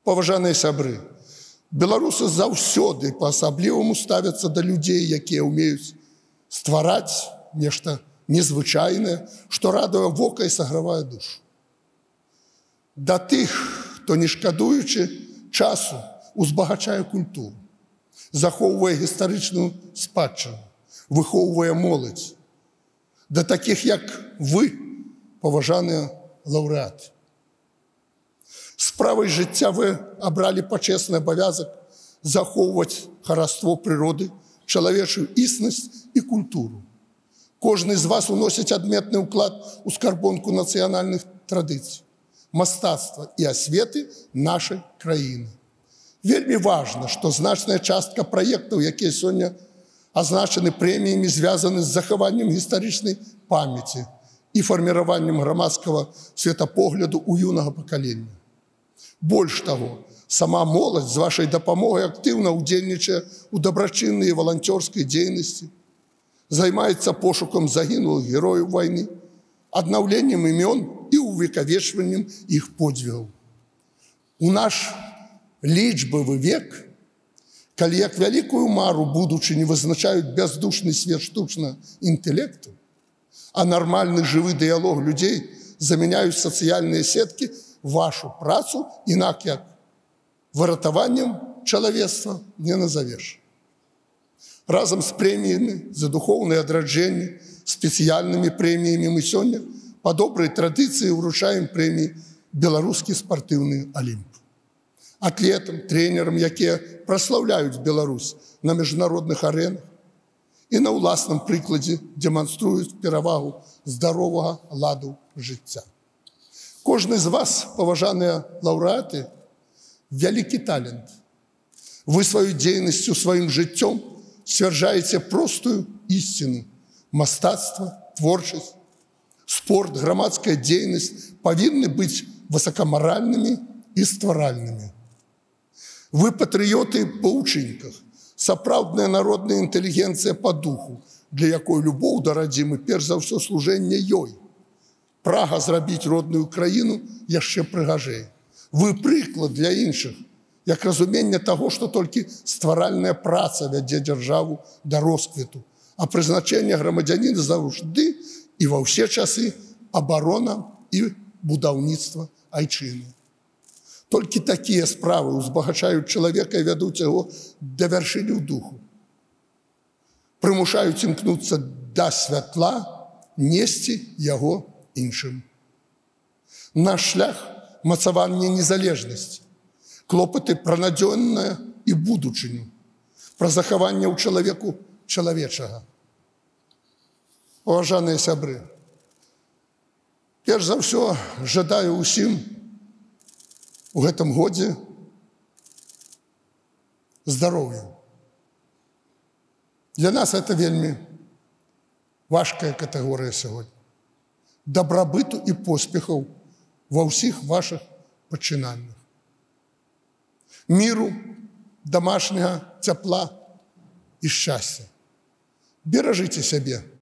Паважаныя сябры, беларусы заўсёды па-асабліваму ставяцца да людзей, якія ўмеюць ствараць нешта незвычайнае, што радуе вока і сагравае душу. Да тых, хто, не шкадуючы часу, узбагачае культуру, захоўвае гістарычную спадчыну, выхоўвае моладзь. Да такіх, як вы, паважаныя лаўрэаты. Справай жыцця вы абралі пачэсны абавязак захоўваць хараство прыроды, чалавечую існасць і культуру. Кожны з вас уносіць адметны ўклад у скарбонку нацыянальных традыцый, мастацтва і асветы нашай краіны. Вельмі важна, што значная частка праектаў, якія сёння азначаны прэміямі, звязаны з захаваннем гістарычнай памяці і фарміраваннем грамадскага светапогляду ў юнага пакалення. Больш таго, сама моладзь з вашай дапамогай актыўна ўдзельнічае ў дабрачыннай і валанцёрскай дзейнасці, займаецца пошукам загінулых герояў вайны, аднаўленнем імён і увекавечваннем іх подзвігаў. У наш лічбавы век, калі як вялікую мару будучыні вызначаюць бяздушны свет штучнага інтэлекту, а нармальны жывы дыялог людзей замяняюць сацыяльныя сеткі, вашу працу інак як выратаваннем чалавецтва не назавеш. Разам з прэміямі за духоўнае адраджэнне, спецыяльнымі прэміямі мы сёння па добрай традыцыі ўручаем прэміі «Беларускі спартыўны алімп». Атлетам, трэнерам, якія праслаўляюць Беларусь на міжнародных арэнах і на ўласным прыкладзе дэманструюць перавагу здаровага ладу жыцця. Кожны з вас, паважаныя лаўрэаты, вялікі талент. Вы сваёй дзейнасцю, сваім жыццём сцвярджаеце простую ісціну. Мастацтва, творчасць, спорт, грамадская дзейнасць павінны быць высакамаральнымі і стваральнымі. Вы патрыёты па ўчынках, сапраўдная народная інтэлігенцыя па духу, для якой любоў да радзімы перш за ўсё служэнне ёй. Прага зрабіць родную краіну яшчэ прыгажэй. Вы прыклад для іншых, як разуменне таго, што толькі стваральная праца вядзе дзяржаву да росквіту, а прызначэнне грамадзяніна заўжды і ва ўсе часы абарона і будаўніцтва айчыны. Толькі такія справы узбагачаюць чалавека і вядуць яго да вяршыні ў духу. Прымушаюць імкнуцца да святла, несці яго іншым. Наш шлях – мацаванне незалежнасці, клопаты пра надзённае і будучыню, пра захаванне ў чалавеку чалавечага. Паважаныя сябры, перш за ўсё жадаю ўсім у гэтым годзе здароўя. Для нас это вельмі важкая катэгорыя сягоння. Дабрабыту і поспехаў ва ўсіх вашых пачынаннях. Міру, дамашняга цяпла і шчасця. Беражыце сябе.